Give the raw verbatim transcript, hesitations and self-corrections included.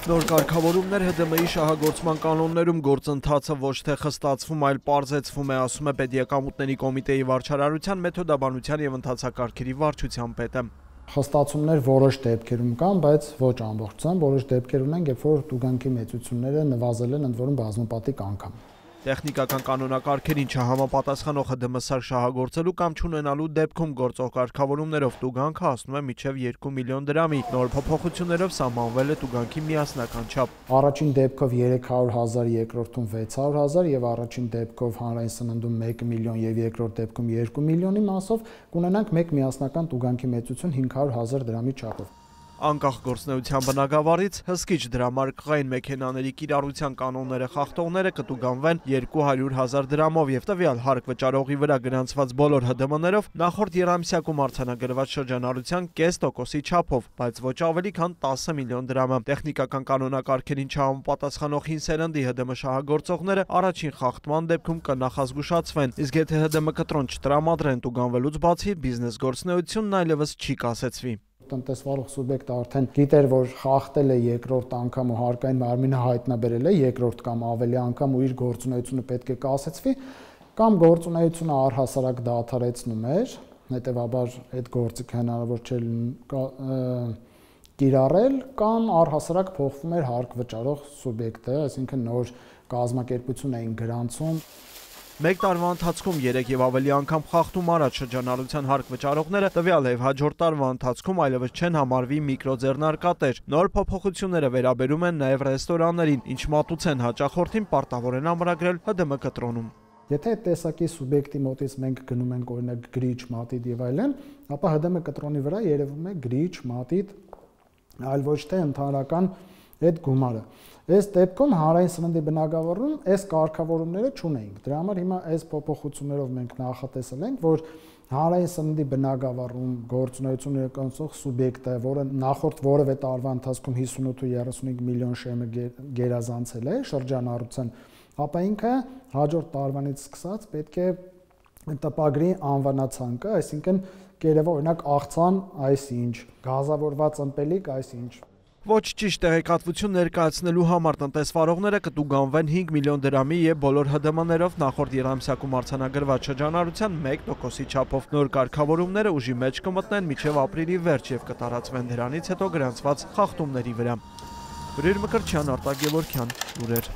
Նոր կարգավորումներ Հ Դ Մ-ի շահագործման կանոններում գործընթացը ոչ թե խստացվում, այլ պարզեցվում է, ասում է Պետեկամուտների կոմիտեի վարչարարության, մեթոդաբանության և ընթացակարգերի վարչության պետը։ Խստացումներ որոշ դեպքերում կան, բայց ոչ ամբողջությամբ, որոշ դեպքեր ունենք, երբ որ տուգանքի մեծությունները նվազել են, ընդ որում բազմապատիկ անգամ։ Տեխնիկական կանոնակարգերին չհամապատասխանող Հ Դ Մ սարք շահագործելու կամ չունենալու դեպքում գործող կարգավորումներով տուգանքը հասնում է մինչև երկու միլիոն դրամի, նոր փոփոխություններով սահմանվել է տուգանքի միասնական չափ։ Առաջին դեպքով երեք հարյուր հազար, երկրորդում վեց հարյուր հազար եւ առաջին դեպքով հանրային սննդում մեկ միլիոն եւ երկրորդ դեպքում երկու միլիոնի մասով կունենանք մեկ միասնական տուգանքի մեծություն հինգ հարյուր հազար դրամի չափով։ Անկախ գործնեության բնագավառից հսկիչ դրամարկղային մեքենաների կիրառության կանոնները խախտողները կտուգանվեն երկու հարյուր հազար դրամով եւ տվյալ հարկ վճարողի վրա գրանցված բոլոր Հ Դ Մ-ներով նախորդ եռամսյակում արձանագրված շրջանառության կես տոկոսի չափով, բայց ոչ ավելի քան տասը միլիոն դրամը։ Տեխնիկական կանոնակարգերին չհամապատասխանող հին սերնդի Հ Դ Մ շահագործողները առաջին խախտման դեպքում կնախազգուշացվեն, իսկ եթե Հ Դ Մ կտրոն չտրամադրեն տուգանվելուց բացի, բիզնես գործունեությունն այլևս չի կասեցվի։ Տնտեսվարող սուբյեկտը արդեն գիտեր, որ խախտել է երկրորդ անգամ ու հարկային մարմինը հայտնաբերել է երկրորդ կամ ավելի անգամ ու իր գործունեությունը պետք է կասեցվի, կամ գործունեությունը առհասարակ դադարեցնում էր, հետևաբար այդ գործիքը հնարավոր չէ կիրառել, կամ առհասարակ փոխվում էր հարկ վճարող սուբյեկտը, այսինքն նոր կազմակերպություն էին գրանցում։ Մեկ տարվա ընթացքում երեք եւ ավելի անգամ խախտում արած շրջանառության հարկ վճարողները տվյալ եւ հաջորդ տարվա ընթացքում այլևս չեն համարվի միկրոձեռնարկատեր։ Նոր փոփոխությունները վերաբերում են նաեւ ռեստորաններին, ինչ մատուցեն հաճախորդին պարտավոր են ամրագրել Հ Դ Մ կտրոնում։ Եթե այդ տեսակի սուբյեկտի մոտից մենք գնում ենք օրինակ գրիչ, մատիտ եւ այլն, ապա Հ Դ Մ կտրոնի վրա երևում է գրիչ, մատիտ, այլ ոչ թե ընդհանրական այդ գումարը։ Այս դեպքում հանրային սննդի բնագավառում այս կարգավորումները չունեինք։ Դրա համար հիմա այս փոփոխություններով մենք նախատեսել ենք, որ հանրային սննդի բնագավառում գործունեություն իրականացնող սուբյեկտը, որը նախորդ որևէ տարվա ընթացքում հիսունութ ու երեսունհինգ միլիոն շեմը գերազանցել է շրջանառության, ապա ինքը հաջորդ տարվանից սկսած պետք է տպագրի անվանացանկը, այսինքն կերևա օրինակ աղցան այսինչ, գազավորված ըմպելիք այսինչ։ Ոչ ճիշտ տեղեկատվություն ներկայացնելու համար տնտեսվարողները կտուգանվեն հինգ միլիոն դրամի եւ բոլոր Հ Դ Մ-ներով նախորդ եռամսյակում արձանագրված շրջանառության մեկ տոկոսի չափով։ Նոր կարգավորումները ուժի մեջ կմտնեն մինչև ապրիլի վերջ եւ կտարածվեն դրանից հետո գրանցված խախտումների վրա։ Բրիր Մկրտչյան, Արտակ Գևորգյան, լուրեր։